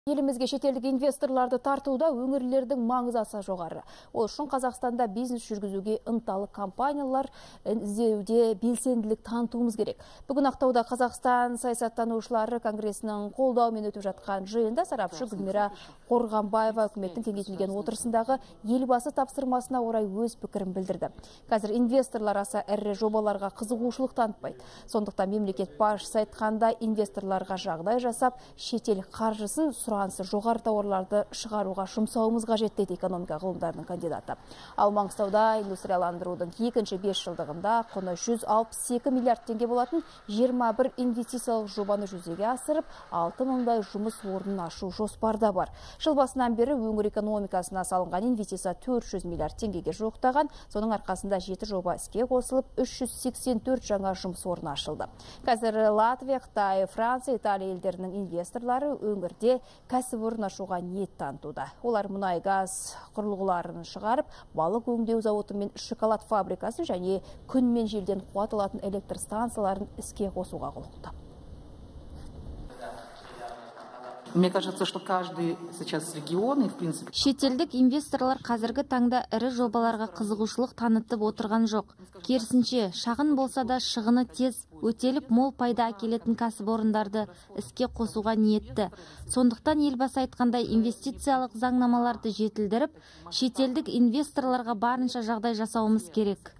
Елімізге шетелдік инвесторларды тартуда өңірлердің маңызы аса жоғары. Ол үшін Қазақстанда бизнес жүргізуге ынталы компаниялар іздеуде белсенділік танытуымыз керек. Бүгін Ақтауда Қазақстан саясаттанушылары конгресінің қолдауымен өтіп жатқан жиында сарапшы Гүлмира Қорғанбаева үкіметтің кеңейтілген отырысындағы елбасы тапсырмасына орай өз пікірін білдірді. Қазір инвесторлар аса ірі жобаларға қызығушылық танытпайды. Сондықтан мемлекет басшысы айтқанда инвесторларға жағдай жасап, шетел қаржысын сұранысы жоғары тауарларды шығаруға жұмсауымыз қажет дейді экономика ғылымдарының кандидаты. Ал Маңғыстауда индустрияландырудың екінші 5 жылдығында құны 162 миллиард теңге болатын 21 инвестициялық жобаны жүзеге асырып, 6 мыңдай жұмыс орнын ашу жоспарда бар. Жыл басынан бері өңір экономикасына салынған инвестиция 400 миллиард теңгеге жуықтаған, соның арқасында 7 жоба іске қосылып, 384 жаңа жұмыс орны ашылды. Қазір Латвия, Қытай, Франция, Италия елдерінің инвесторлары өңірде кәсіпорын ашуға ниет танытуда. Олар мұнай-газ құрылғыларын шығарып, балық өңдеу зауыты мен шоколад фабрикасын және күн мен желден қуат алатын электр станцияларын іске қосуға құлықты. Мне кажется, что каждый сейчас регион и в принципе... Шетелдік инвесторлар қазіргі таңда ірі жобаларға қызығушылық танытып отырған жоқ. Керісінше, шағын болса да шығыны тез, өтеліп мол пайда әкелетін кәсіпорындарды іске қосуға ниетті. Сондықтан елбасы айтқандай инвестициялық заңнамаларды жетілдіріп, шетелдік инвесторларға барынша жағдай жасауымыз керек.